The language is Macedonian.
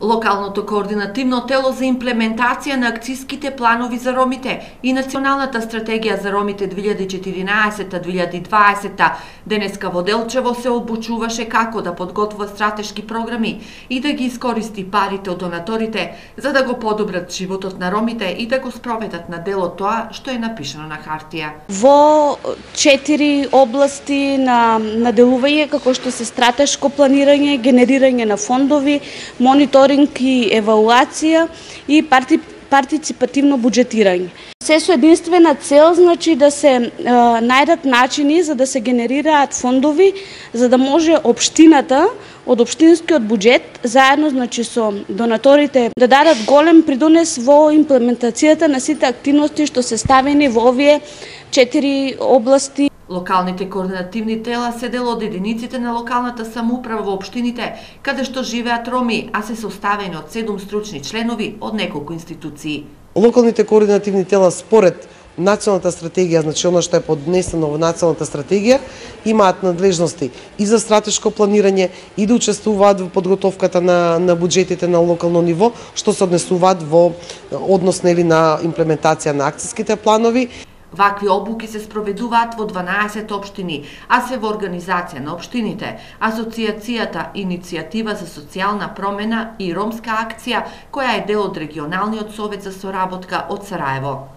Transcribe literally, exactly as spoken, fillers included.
Локалното координативно тело за имплементација на акциските планови за ромите и Националната стратегија за ромите две илјади и четиринаесета - две илјади и дваесета денеска во Делчево се обучуваше како да подготвува стратешки програми и да ги искористи парите од донаторите за да го подобрат животот на ромите и да го спроведат на дело тоа што е напишано на хартија. Во четири области на, на делување како што се стратешко планирање, генерирање на фондови, мониторинг и евалуација и парти, партиципативно буџетирање. Се со единствена цел, значи да се е, најдат начини за да се генерираат фондови за да може општината од општинскиот буџет заедно значи со донаторите да дадат голем придонес во имплементацијата на сите активности што се ставени во овие четири области. Локалните координативни тела се дел од единиците на локалната самоуправа во општините, каде што живеат роми, а се составени од седум стручни членови од неколку институции. Локалните координативни тела според националната стратегија, значи она што е поднесено во националната стратегија, имаат надлежности и за стратешко планирање и да учествуваат во подготовката на на буџетите на локално ниво, што се однесуваат во однос нели на имплементација на акциските планови. Вакви обуки се спроведуваат во дванаесет општини, а се во организација на општините, Асоцијацијата Иницијатива за социјална промена и Ромска акција, која е дел од регионалниот совет за соработка од Сараево.